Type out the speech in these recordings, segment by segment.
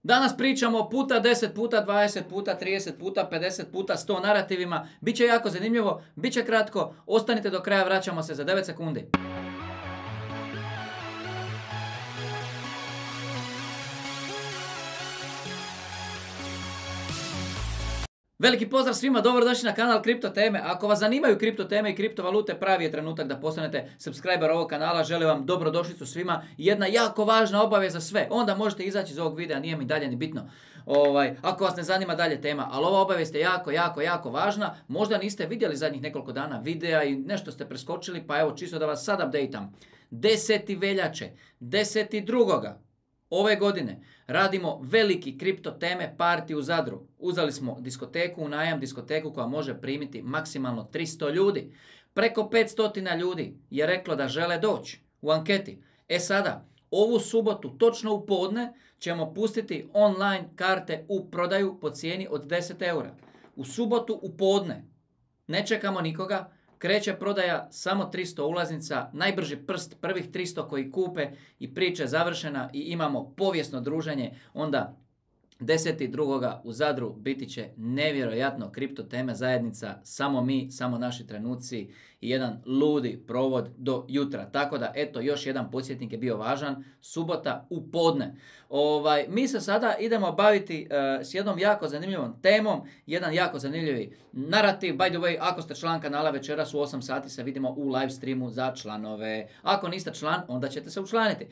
Danas pričamo puta 10, puta 20, puta 30, puta 50, puta 100 narativima. Biće jako zanimljivo, biće kratko. Ostanite do kraja, vraćamo se za 9 sekundi. Veliki pozdrav svima, dobrodošli na kanal Kripto teme. Ako vas zanimaju kripto teme i kriptovalute, pravi je trenutak da postanete subscriber ovog kanala. Želim vam dobrodošlicu svima. Jedna jako važna obaveza za sve. Onda možete izaći iz ovog videa, nije mi dalje ni bitno. Ako vas ne zanima dalje tema, ali ova obavijest je jako važna. Možda niste vidjeli zadnjih nekoliko dana videa i nešto ste preskočili, pa evo čisto da vas sad updateam. 10. veljače, 10.2. ove godine radimo veliki kripto teme party u Zadru. Uzeli smo diskoteku u najam, diskoteku koja može primiti maksimalno 300 ljudi. Preko 500 ljudi je reklo da žele doći u anketi. Sada, ovu subotu, točno u podne, ćemo pustiti online karte u prodaju po cijeni od 10 eura. U subotu u podne. Ne čekamo nikoga. Kreće prodaja samo 300 ulaznica, najbrži prst, prvih 300 koji kupe i priča je završena i imamo povijesno druženje. Onda 10.2. u Zadru biti će nevjerojatno kripto teme zajednica, samo mi, samo naši trenuci i jedan ludi provod do jutra. Tako da, eto, još jedan podsjetnik je bio važan, subota u podne. Mi se sada idemo baviti s jednom jako zanimljivom temom, jedan jako zanimljivi narativ. By the way, ako ste član kanala, večeras u 8 sati se vidimo u live streamu za članove. Ako niste član, onda ćete se učlaniti.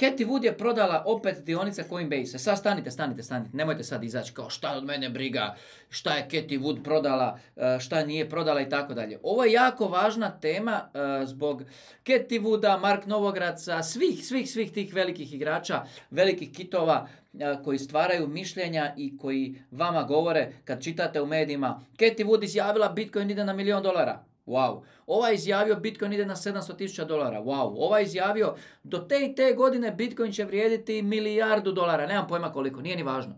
Cathie Wood je prodala opet dionice Coinbase. Sad stanite, nemojte sad izaći kao šta od mene briga, šta je Cathie Wood prodala, šta nije prodala i tako dalje. Ovo je jako važna tema zbog Cathie Wooda, Mark Novogradca, svih tih velikih igrača, velikih kitova koji stvaraju mišljenja i koji vama govore kad čitate u medijima. Cathie Wood izjavila Bitcoin ide na $1 milion. Wow. Ovaj izjavio Bitcoin ide na $700,000. Wow. Ovaj izjavio do te i te godine Bitcoin će vrijediti $1 milijardu. Nemam pojma koliko, nije ni važno.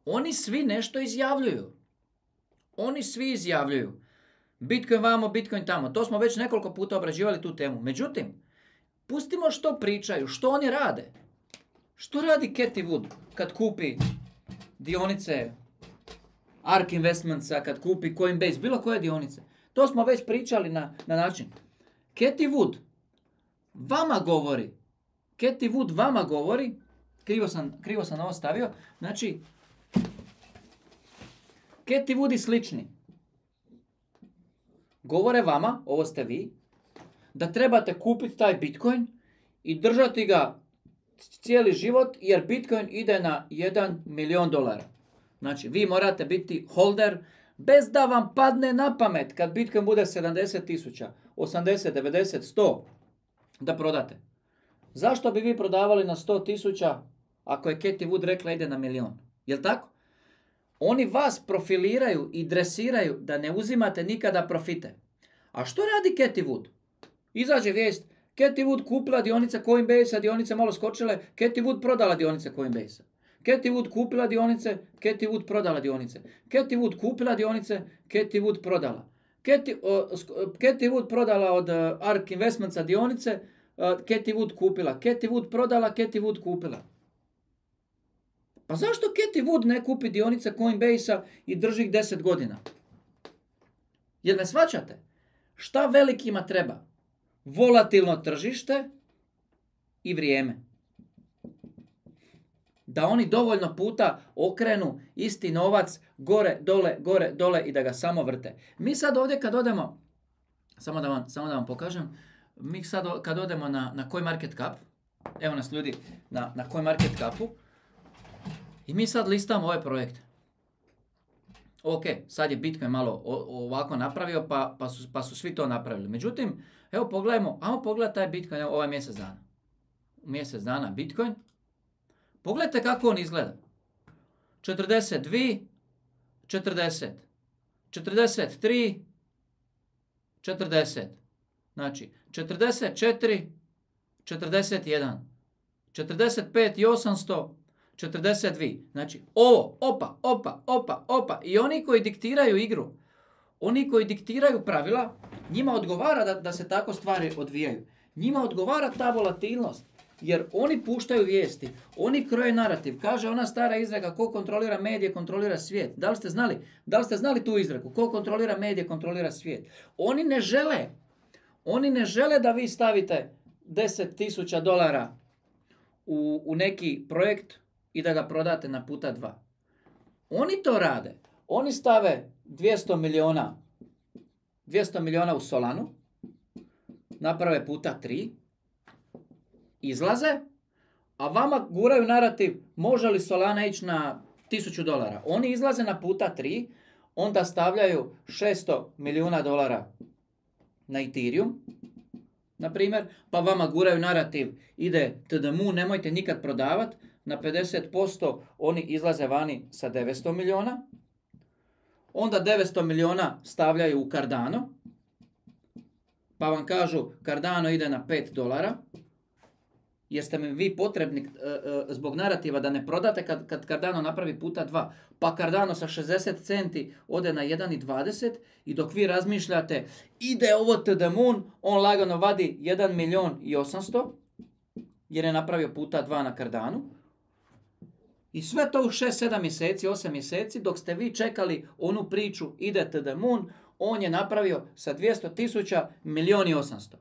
Oni svi nešto izjavljuju. Bitcoin vamo, Bitcoin tamo. To smo već nekoliko puta obrađivali tu temu. Međutim, pustimo što pričaju, što oni rade. Što radi Cathie Wood kad kupi dionice ARK Investmentsa, kad kupi Coinbase, bilo koje dionice? To smo već pričali na način. Cathie Wood vama govori, krivo sam ovo stavio, znači, Cathie Wood i slični govore vama, ovo ste vi, da trebate kupiti taj Bitcoin i držati ga cijeli život jer Bitcoin ide na $1 milion. Znači, vi morate biti holder bez da vam padne na pamet kad Bitcoin bude 70.000, 80, 90, 100 da prodate. Zašto bi vi prodavali na 100.000 ako je Cathie Wood rekla ide na milion? Jel' tako? Oni vas profiliraju i dresiraju da ne uzimate nikada profite. A što radi Cathie Wood? Izađe vijest, Cathie Wood kupila dionice Coinbase, dionice malo skočile, Cathie Wood prodala dionice Coinbase. Cathie Wood kupila dionice, Cathie Wood prodala dionice. Cathie Wood kupila dionice, Cathie Wood prodala. Cathie Wood prodala od ARK Investmentsa dionice, Cathie Wood kupila. Cathie Wood prodala, Cathie Wood kupila. Pa zašto Cathie Wood ne kupi dionice Coinbase-a i drži ih 10 godina? Jer ne shvaćate? Šta velikima treba? Volatilno tržište i vrijeme. Da oni dovoljno puta okrenu isti novac gore, dole i da ga samo vrte. Mi sad ovdje kad odemo, samo da vam pokažem, mi sad kad odemo na CoinMarketCap, evo nas ljudi na CoinMarketCapu, i mi sad listamo ove projekte. Ok, sad je Bitcoin malo ovako napravio, pa su svi to napravili. Međutim, evo pogledajmo, ajmo pogledati taj Bitcoin, evo ovaj mjesec dana. Mjesec dana Bitcoin. Pogledajte kako on izgleda. 42, 40, 43, 40. Znači, 44, 41, 45 i 800, 42. Znači, ovo, opa. I oni koji diktiraju igru, oni koji diktiraju pravila, njima odgovara da se tako stvari odvijaju. Njima odgovara ta volatilnost. jer oni puštaju vijesti, oni kroje narativ. Kaže ona stara izreka, ko kontrolira medije, kontrolira svijet. Da li ste znali? Da li ste znali tu izreku? Ko kontrolira medije, kontrolira svijet. Oni ne žele da vi stavite $10,000 u neki projekt i da ga prodate na puta 2. Oni to rade. Oni stave 200 miliona u Solanu, naprave puta 3, izlaze, a vama guraju narativ može li Solana ići na $1,000. Oni izlaze na puta 3, onda stavljaju $600 milijuna na Ethereum, na primjer, pa vama guraju narativ ide to the moon, nemojte nikad prodavati, na 50% oni izlaze vani sa 900 milijuna, onda 900 milijuna stavljaju u Cardano, pa vam kažu Cardano ide na $5, jer ste mi vi potrebni zbog narativa da ne prodate kad Cardano napravi puta 2. Pa Cardano sa 60 centi ode na 1,20 i dok vi razmišljate ide ovo to the moon, on lagano vadi 1.800.000 jer je napravio puta 2 na Cardanu. I sve to u 6-7 mjeseci, 8 mjeseci, dok ste vi čekali onu priču ide to the moon, on je napravio sa 200.000 1.800.000.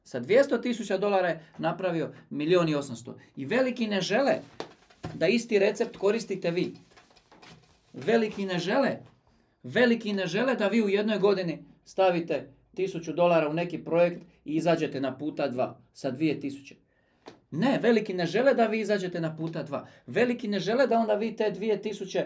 Sa $200,000 je napravio 1.800.000. I veliki ne žele da isti recept koristite vi. Veliki ne žele da vi u jednoj godini stavite $1.000 u neki projekt i izađete na puta 2 sa 2.000. Ne, veliki ne žele da vi izađete na puta 2. Veliki ne žele da onda vi te 2.000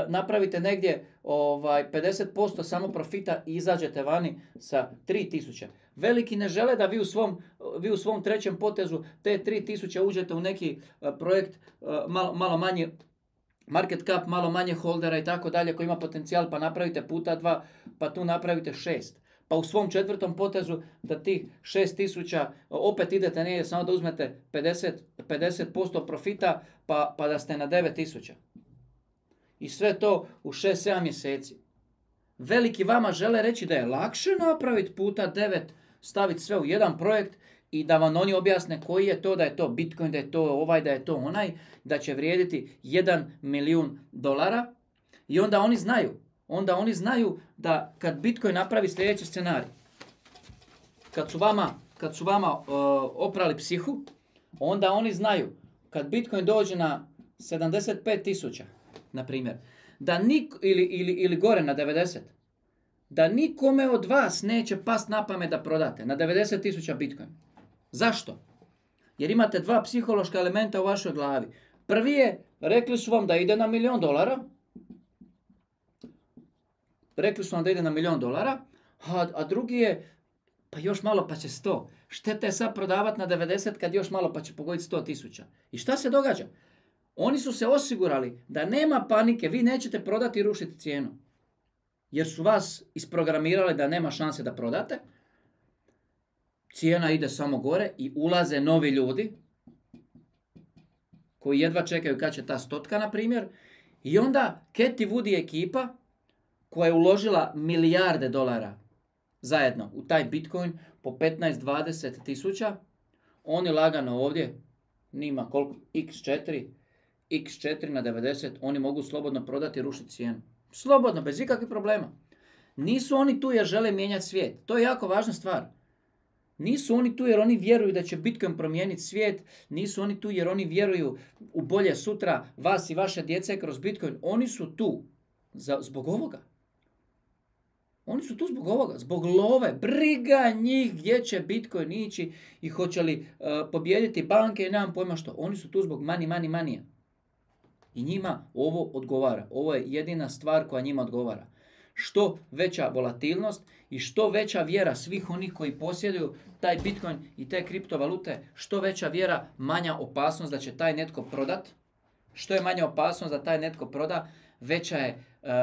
napravite negdje 50% samo profita i izađete vani sa 3.000. Veliki ne žele da vi u svom trećem potezu te 3.000 uđete u neki projekt malo manje market cap, malo manje holdera i tako dalje koji ima potencijal, pa napravite puta 2, pa tu napravite 6. Pa u svom četvrtom potezu da tih 6.000 opet idete negdje samo da uzmete 50% profita pa da ste na 9.000. I sve to u 6-7 mjeseci. Veliki vama žele reći da je lakše napraviti puta 9, staviti sve u jedan projekt i da vam oni objasne koji je to, da je to Bitcoin, da je to ovaj, da je to onaj, da će vrijediti $1 milijun. I onda oni znaju da kad Bitcoin napravi sljedeći scenarij, kad su vama oprali psihu, onda oni znaju kad Bitcoin dođe na 75.000, na primjer, da ili gore na 90, da nikome od vas neće past na pamet da prodate na 90.000 Bitcoin. Zašto? Jer imate dva psihološka elementa u vašoj glavi. Prvi je, rekli su vam da ide na $1 milijun. Rekli su vam da ide na $1 milijun, a drugi je, pa još malo pa će 100. Šteta je sad prodavati na 90 kad još malo pa će pogoditi 100.000. I šta se događa? Oni su se osigurali da nema panike, vi nećete prodati i rušiti cijenu. Jer su vas isprogramirali da nema šanse da prodate. Cijena ide samo gore i ulaze novi ljudi koji jedva čekaju kad će ta 100, na primjer. I onda Cathie Wood ekipa koja je uložila milijarde dolara zajedno u taj Bitcoin po 15-20 tisuća, oni lagano ovdje, nima koliko, x4 na 90, oni mogu slobodno prodati i rušiti cijenu. Slobodno, bez ikakvih problema. Nisu oni tu jer žele mijenjati svijet. To je jako važna stvar. Nisu oni tu jer oni vjeruju da će Bitcoin promijeniti svijet. Nisu oni tu jer oni vjeruju u bolje sutra vas i vaše djece kroz Bitcoin. Oni su tu zbog ovoga. Oni su tu zbog ovoga, zbog love. Briga njih gdje će Bitcoin ići i hoće li pobijediti banke i nemam pojma što. Oni su tu zbog money. I njima ovo odgovara. Ovo je jedina stvar koja njima odgovara. Što veća volatilnost i što veća vjera svih onih koji posjeduju taj Bitcoin i te kriptovalute, što veća vjera, manja opasnost da će taj netko prodat. Što je manja opasnost da taj netko proda,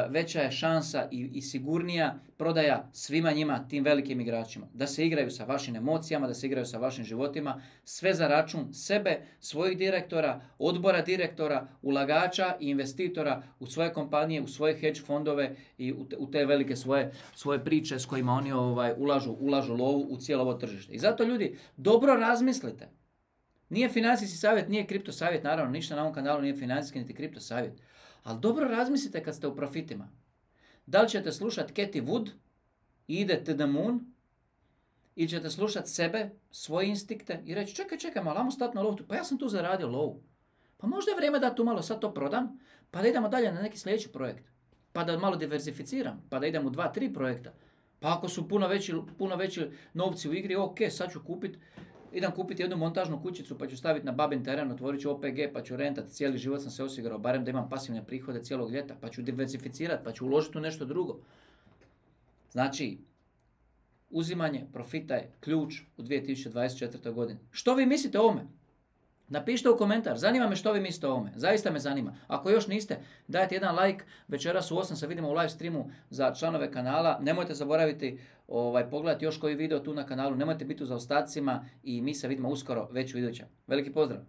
veća je šansa i sigurnija prodaja svima njima, tim velikim igračima. Da se igraju sa vašim emocijama, da se igraju sa vašim životima, sve za račun sebe, svojih direktora, odbora direktora, ulagača i investitora u svoje kompanije, u svoje hedge fondove i u te velike svoje priče s kojima oni ulažu lovu u cijelo ovo tržište. I zato ljudi, dobro razmislite. Nije financijski savjet, nije kripto savjet, naravno, ništa na ovom kanalu nije financijski niti kripto savjet. Ali dobro razmislite kad ste u profitima. Da li ćete slušati Cathie Wood i ide to the moon, ili ćete slušati sebe, svoje instinkte i reći čekaj, malo, ajmo stati na lovu, pa ja sam tu zaradio lovu. Pa možda je vrijeme da tu malo sad to prodam, pa da idemo dalje na neki sljedeći projekt. Pa da malo diversificiram, pa da idem u 2-3 projekta. Pa ako su puno veći novci u igri, ok, sad ću idem kupiti jednu montažnu kućicu pa ću staviti na babin teren, otvorit ću OPG pa ću rentati, cijeli život sam se osigurao, barem da imam pasivne prihode cijelog ljeta, pa ću diversificirati, pa ću uložiti u nešto drugo. Znači, uzimanje profita je ključ u 2024. godini. Što vi mislite o ovome? Napišite u komentar, zanima me što vi mislite o ovome, zaista me zanima. Ako još niste, dajte jedan like, večeras u 8 se vidimo u live streamu za članove kanala. Nemojte zaboraviti pogledati još koji video tu na kanalu, nemojte biti u zaostacima i mi se vidimo uskoro već u idućem. Veliki pozdrav!